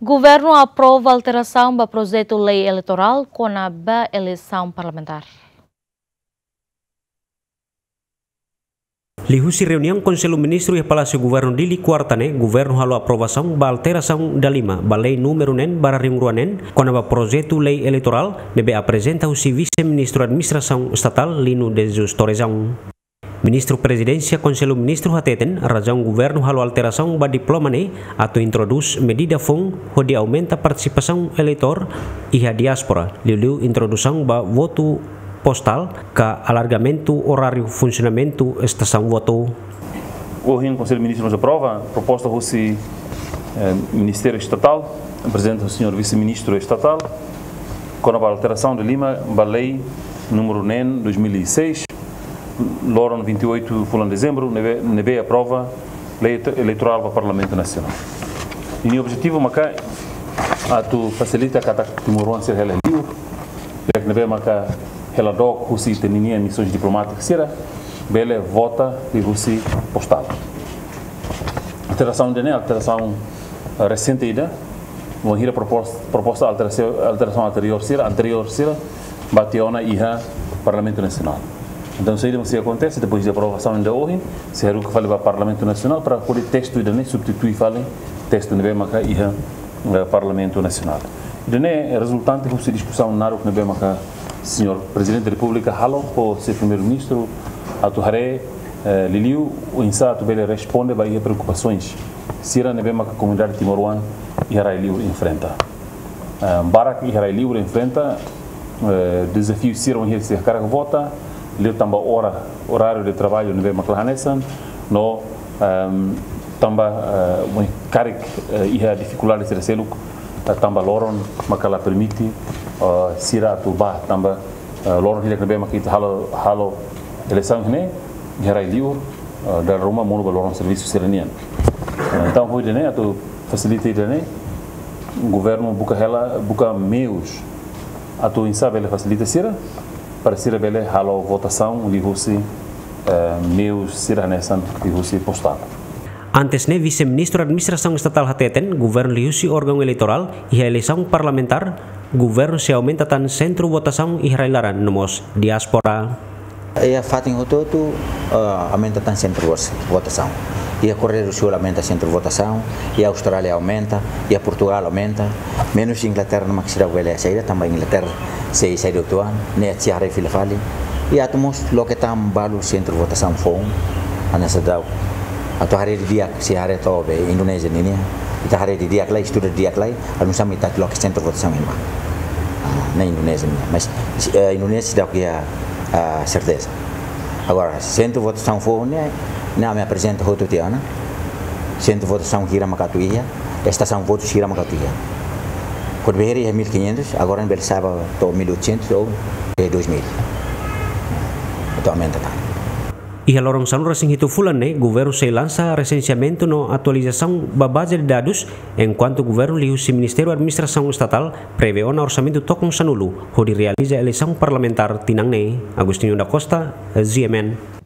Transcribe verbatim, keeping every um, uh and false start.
Governu aprova alterasaun ba projetu lei eleitorál kona-ba eleisaun parlamentár. Liuhusi reuniaun Konsellu Ministru iha Palásiu Governu Dili, kuarta ne'e, governu halo aprovasaun ba alterasaun dalima ba lei númeru neen barra rihun rua neen, kona-ba projetu lei eleitorál, ne'ebé aprezenta husi Vise-Ministru Administrasaun Estatál, Lino de Jesus Torrejão. Ministru Prezidénsia Konsellu Ministru hateten, razaun governu halo alterasaun ba diploma ne'e atu introdús medida foun hodi aumenta partisipasaun eleitór iha diáspora, liuliu introdusaun ba votu postál ka alargamentu oráriu funsionamentu estasaun votu. Ohin Konsellu Ministru mós aprova proposta husi, eh, Ministériu Estatál, aprezenta husi señór Vise-Ministru Estatál, kona-ba alterasaun dalima ba lei númeru neen dois mil e seis, loron vinte e oito fulan dezembru, ne'ebé, ne'ebé aprova lei eleitorál ba Parlamentu Nasionál. Ninia objetivu maka atu fasilita katak timoroan sira hela livre, di'ak ne'ebé maka hela dook husi ita-nia missões diplomáticas sira, bele vota liuhusi postál. Alterasaun ida-ne'e, alterasaun, eh, resente ida, wainhira propos-, proposta alterasaun, alterasaun anteriór sira, anteriór sira, ba tiha ona iha Parlamentu Nasionál. Entaun, saida mak sei akontese, depois de aprovasaun ida ohin, sei haruka fali ba Parlamentu Nasionál para hodi testu ida-ne'e substitui fali testu ne'ebé maka iha, eh, Parlamentu Nasionál. Ida-ne'e rezultante husi diskusaun naruk ne'ebé maka señór Prezidente da Repúblika halo ho señór Primeiru-Ministru atu haree, eh, liuliu oinsá atu bele responde ba iha preokupasoens sira ne'ebé maka komunidade timoroan iha rai livre enfrenta. Eh, barak iha rai livre enfrenta, eh, dezafiu sira wainhira sira hakarak vota, liu tanba ora, oráriu de traballu ne'ebé maka la hanesan, no, ehm, tanba, eh, wainhira karik, eh, iha difikuldade sira seluk, eh, tanba loron maka la permite, eh, sira atu bá, tanba, eh, loron hirak ne'ebé maka ita halo, halo eleisaun ne'e, iha rai livre, eh, dala ruma monu ba loron servisu sira-nian. Eh, entaun, hodi nune'e atu fasilita ida-ne'e, governu buka hela, buka meius atu oinsá bele fasilita sira, para sira bele halo votasaun liuhusi, eh, meius sira hanesan liuhusi postál. Antes ne'e, Vise-Ministru Administrasaun Estatál hateten, governu liuhusi órgaun eleitorál iha eleisaun parlamentár, governu sei aumenta tan sentru votasaun iha rai-laran no mós diáspora. Iha fatin hotu-hotu, eh, aumenta tan sentru vos-, votasaun. Iha Koreia do Sul aumenta sentru votasaun, iha Austrália aumenta, iha Portugál aumenta, menus Inglaterra no mak sira bele saida, tanba Inglaterra sei saida uitoan, ne'e sei haree fila fali. Iha atu mós loke tan balu sentru votasaun foun, hanesan daudaun. Atu haree didi'ak, sei haree to'o be Indonézia ninia. Ita haree didi'ak lai, estuda didi'ak lai, anu sami ita loke sentru votasaun iha ne'ebá. Ah, ne'e Indonézia nian. Mas, eh, Indonézia seidauk iha, ah, serteza. Agora, sentru votasaun foun ne'e, ne'e ami aprezenta hotu tiha ona. Sentru votasaun hira maka atu iha, estasaun votu hira maka atu iha. Kuandu bele iha mil e quinhentos, agora bele sa'e ba to'o mil e oitocentos ou, eh, dois mil. Atu aumenta tan. Iha loron sanulu-resin-hitu fulan ne'e, governu sei lansa resenseamentu no atualizasaun ba baze de dadus, enkuantu governu liuhusi Ministériu Administrasaun Estatál prevee ona orsamentu tokon sanulu hodi realiza eleisaun parlamentár tinan ne'e. Agostinho da Costa, G M N.